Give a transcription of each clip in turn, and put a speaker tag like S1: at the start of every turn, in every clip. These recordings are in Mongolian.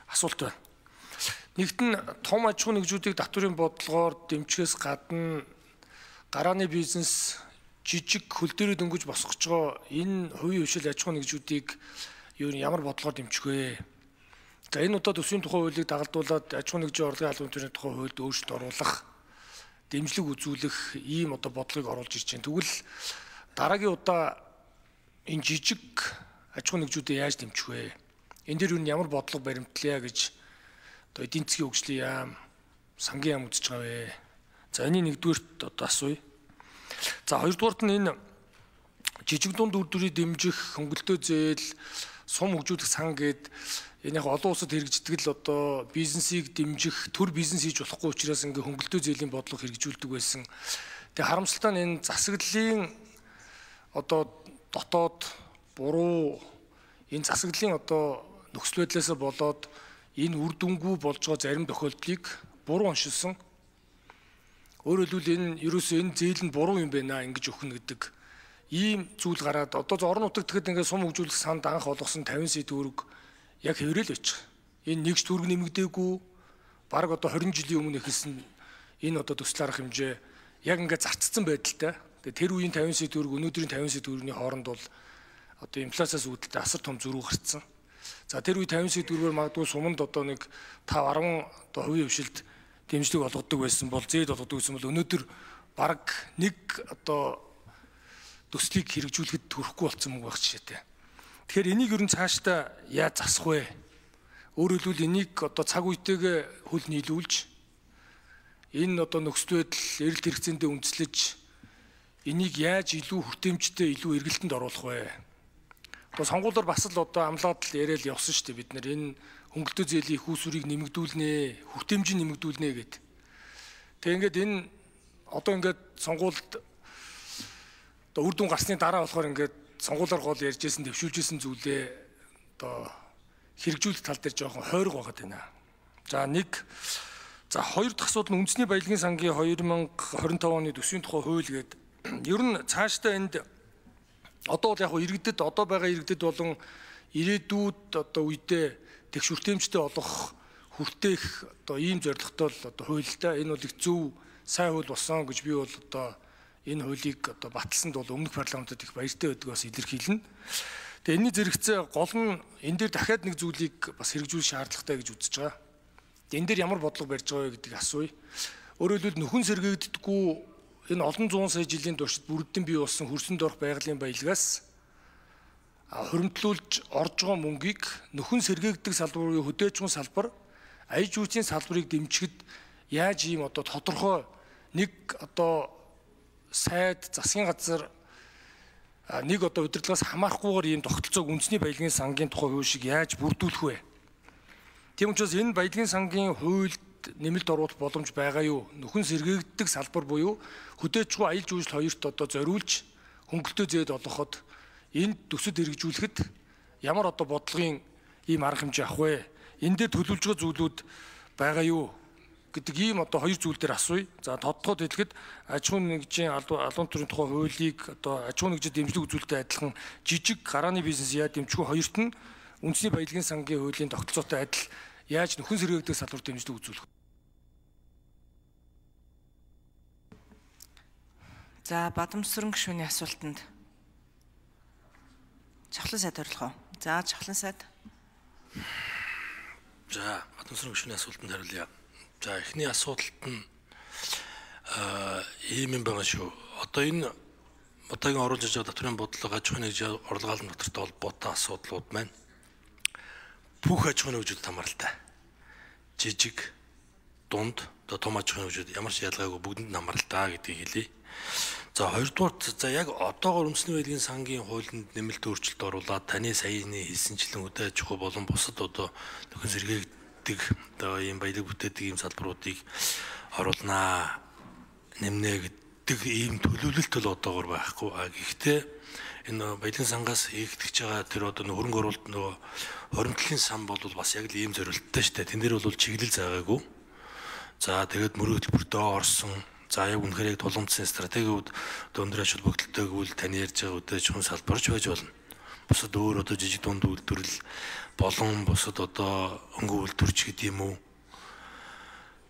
S1: асуулт байна. Нэгт нь том аж ахуй нэгжүүдийг татврын бодлогоор дэмжихээс гадна гарааны бизнес жижиг хөл дээрээ дөнгөж босгож байгаа энэ хувийн хвшил аж ахуй нэгжүүдийг юу ямар бодлогоор дэмжих вэ? За энэ удаа төсвийн тухай хуулийг дагалдуулаад аж ахуй нэгжийн орлогын албан тушаалын тухай хуульд өөрчлөлт оруулах, дэмжлэг үзүүлэх ийм одоо бодлогыг оруулж ирж байна. Тэгвэл дараагийн удаа энэ жижиг аж ахуй нэгжүүдийг яаж дэмжих вэ? Энэ дээр юу ямар бодлого баримтлая гэж одоо эдийн засгийн хөгжлийн яам, сангийн яам үзэж байгаа вэ? За энэ нэгдүгээрт одоо асууя. За хоёрдугаарт нь энэ жижиг дунд үр дүрийг дэмжих хөнгөлтөө зээл, сум хөгжүүлэх сан гэд энэ яг олон улсад хэрэгждэг л одоо бизнесийг дэмжих, төр бизнес хийж болохгүй учраас ингээ хөнгөлтөө зээлийн бодлого хэрэгжүүлдэг байсан. Тэгээ харамсалтай нь энэ засаглалын одоо дотоод буруу энэ засаглалын одоо нөхцөл байдлаас болоод энэ үр дүнгүй болж байгаа зарим тохиолдлыг буруу оншилсон. Өөрөөр хэлбэл энэ ерөөсөө энэ зээл нь буруу юм байна ингэж өгнө гэдэг ийм зүйл гараад одоо орон нутагт тэгэхэд ингээд сум хөгжүүлэх санд анх олгосон 50 сая төгрөг яг хэврээл байж байгаа. Энэ нэгж төгрөг нэмэгдээгүй бараг одоо 20 жилийн өмнө эхэлсэн энэ одоо төсөл арга хэмжээ яг ингээд зарцсан байдалтай. Тэгээ тэр үеийн 50 сая төгрөг өнөөдрийн 50 сая төгрөгийн хооронд бол одоо инфляциас үүдэлтэй асар том зөрүү гарцсан. За тэр үе 50 сая төгрөгөөр магадгүй суманд одоо нэг 5-10 одоо хувийн хвшилд дэмжлэг олгодог байсан бол зээл олгодог байсан бол өнөөдөр бараг нэг одоо төслийг хэрэгжүүлэхэд хүрэхгүй болсон мөнгө байх жишээтэй. Тэгэхээр энийг ер нь цаашдаа яаж засах вэ? Өөрөөр хэлбэл энийг одоо цаг үетэйгээ хөл нийлүүлж энэ одоо нөхцөл байдал эрэлт хэрэгцээндээ үндэслэж энийг яаж илүү хүртээмжтэй, илүү эргэлтэнд оруулах вэ? Одоо сонгуулиар бас л одоо амлаад л яриад явсан шүү дээ бид нар энэ хөнгөлтөө зээлийн их усүрийг нэмэгдүүлнэ, хүртээмжийг нэмэгдүүлнэ гэд. Тэгээ ингээд энэ одоо ингээд сонгуульд одоо үр дүн гарсны дараа болохоор ингээд сонгуулиар гол ярьжсэн, дэвшүүлжсэн зүйлээ одоо хэрэгжүүлэх тал дээр жоохон хойрог байгаад байна. За хоёр дахь асуудал нь үндэсний баялагын сангийн 2025 оны төсвийн тухай хууль гэдэг. Ер нь цаашдаа энд одоо бол яг иргэдэд одоо байгаа иргэдэд болон ирээдүйд одоо үедээ тэгш хүртээмжтэй олох хүртээх одоо ийм зорилготой л одоо хуультай энэ бол их зөв сайн хууль болсон гэж би бол одоо энэ хуулийг одоо баталсанд бол өмнөх парламентод их баяртай байдаг бас илэрхийлнэ. Тэгээ энэний зэрэгцээ гол нь энэ дээр дахиад нэг зүйлийг бас хэрэгжүүлэх шаардлагатай гэж үзэж байгаа. Энэ дээр ямар бодлого барьж байгаа вэ гэдгийг асууя. Өөрөөр хэлбэл нөхөн сэргээгддэггүй энэ олон зуун сая жилийн туршид бүрдэн бий болсон хөрсөнд орох байгалийн баялагаас хуримтлуулж орж байгаа мөнгийг нөхөн сэргээгддэг салбарын хөдөөжгөн салбар, аяж үүсийн салбарыг дэмжихэд яаж ийм одоо тодорхой нэг одоо сайд засгийн газар нэг одоо удирдлагаас хамаарахгүйгээр ийм тогтолцоог үндэсний баялагын сангийн тухай хууль шиг яаж бүрдүүлэх вэ? Тийм учраас энэ баялагын сангийн хуульд нэмэлт оруулах боломж байгаа юу? Нөхөн сэргээгддэг салбар буюу хөдөөжгөө аялал жуулчлал хоёрт одоо зориулж хөнгөлтөө зээд олгоход энд төсөд хэрэгжүүлэхэд ямар одоо бодлогын ийм арга хэмжээ авах вэ? Энд дээр төлөвлөж байгаа зүйлүүд байгаа юу гэдэг ийм одоо хоёр зүйл дээр асууя. За тодтогод хэлэхэд аж ахуй нэгжийн албан тушаалын тухай хуулийг одоо аж ахуй нэгжид дэмжлэг үзүүлэлттэй адилхан жижиг гарааны бизнес яа дэмжих хоёрт нь үндэсний баялагын сангийн хуулийн тогтолцоотой адил яаж нөхөн сэргээгдэх салбар дэмжлэг үзүүлэх.
S2: За Бадамсран гишүүний асуултанд Чахлан сайд хариулах уу? За Чахлан сайд.
S3: За Бадамсран гишүүний асуултанд хариулъя. За эхний асуудалт нь ийм юм байгаа шүү. Одоо энэ одоогийн оруулж байгаа татврын бодлого аж ахуйн нэгжийн орлого албан татвартай холбоотой асуудлууд маань бүх аж ахуйн нэгжүүдэд хамааралтай. Жижиг, дунд, одоо том аж ахуйн нэгжүүд ямар ч ялгаагүй бүгдэнд хамааралтай гэдгийг хэлье. За хоёрдугаар за яг одоогоор үндэсний баялагын сангийн хуулинд нэмэлт өөрчлөлт оруулаад таны саяны хэлсэнчлэн хөдөө аж ахуй болон бусад одоо нөхөн сэргээгддэг одоо ийм баялаг бүтээдэг ийм салбаруудыг оруулнаа нэмнэ гэдэг ийм төлөвлөлт бол одоогоор байхгүй. Гэхдээ энэ баялагын сангаас хийгдэж байгаа тэр одоо хөрөнгө оруулалт нөгөө хоримтлын сан бол бас яг л ийм зорилттой шүү дээ. Тэн дээр бол чиглэл заагаагүй. За тэгээд мөрөө хөтөлбөртөө орсон. За яг үнэхээр яг тулгымдсан стратегиуд өндөр ач холбогдолтойг үл тань ярьж байгаа үдээж хүн салбарч байж болно. бусад өөр одоо жижиг дунд үйлдвэрлэл болон бусад одоо өнгө үйлдвэрч гэдэг юм уу.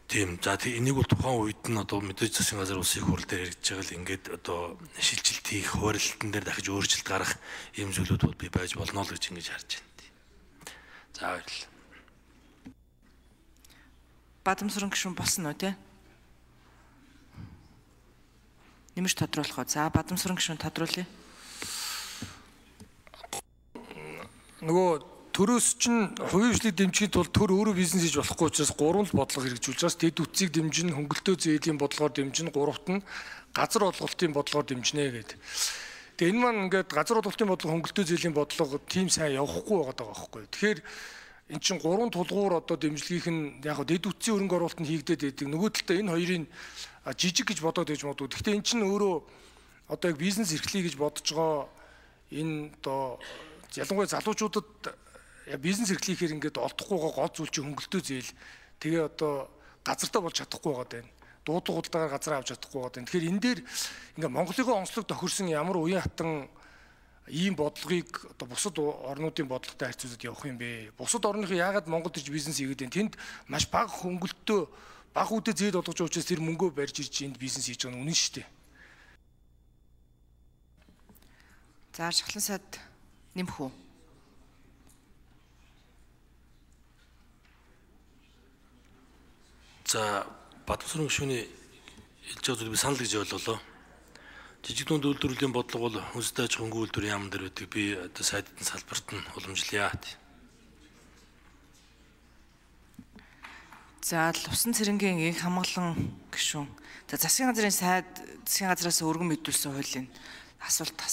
S3: Тийм. За энийг бол тухайн үед нь одоо мэдээж засгийн газар улсын их хурл дээр ярьж байгаа л ингээд одоо шилжилт хийх, хуваарлалтан дээр дахиж өөрчлөлт гарах ийм зүйлүүд бол би байж болно л гэж ингэж харж байна. За баярлалаа.
S2: Бадамсрын гишүүн болсон уу те? Нэмж тодруулах уу? За Бадамсрын гишүүн тодруулъя.
S1: Нөгөө төрөөс чинь хувийн хөгжлийг дэмжихийн тулд төр өөрөө бизнес хийж болохгүй учраас гурван л бодлого хэрэгжүүлж байгаа. Дэд үтцийг дэмжин, хөнгөлтөө зээлийн бодлогоор дэмжин, гуравт нь газар олголтын бодлогоор дэмжинэ гэдэг. Тэгээ энэ маань ингээд газар олголтын бодлого, хөнгөлтөө зээлийн бодлого тийм сайн явахгүй байгаа байхгүй. Тэгэхээр эн чинь гурван тулгуур одоо дэмжлэгийнх нь яг дэд үтцийн хөрөнгө оруулалт нь хийгдээд байдаг. Нөгөө талдаа энэ хоёрын жижиг гэж бодоод байж магадгүй. Гэхдээ эн чинь өөрөө одоо яг бизнес эрхлэе гэж бодож байгаа энэ одоо ялангуяа залуучуудад бизнес эрхлэхээр ингээд олдохгүйгаа гол зүйл чинь хөнгөлтөө зээл. Тэгээ одоо газартаа болж чадахгүй байгаа даа. Дуудлага худалдаагаар газар авч чадахгүй байгаа даа. Тэгэхээр энэ дээр ингээд Монголын онцлог тохирсон ямар уян хатан ийм бодлогыг одоо бусад орнуудын бодлоготой харьцуулаад явах юм бэ? Бусад орныхоо яагаад Монголд ирж бизнес хийгээд байна? Тэнд маш бага хөнгөлтөө, бага үдэ зээл олгож байгаа учраас тэр мөнгөө барьж ирж энд бизнес хийж байгаа нь үнэн шүү дээ.
S2: За Шахлан сайд нэмэх үү?
S3: За Бадамсрын гишүүний хэлж байгаа зүйл би санал гэж ойлголоо. Жижиг дунд үйлдвэрлэлийн бодлого бол хүнстэй аж ахуйн үйлдвэрийн яамн дээр үүдэг. Би одоо сайдын салбарт нь уламжлая.
S2: За Лувсан цэрэнгийн их хамгаалан гишүүн. За засгийн газрын сайд засгийн газраас өргөн мэдүүлсэн хуулийн асуулт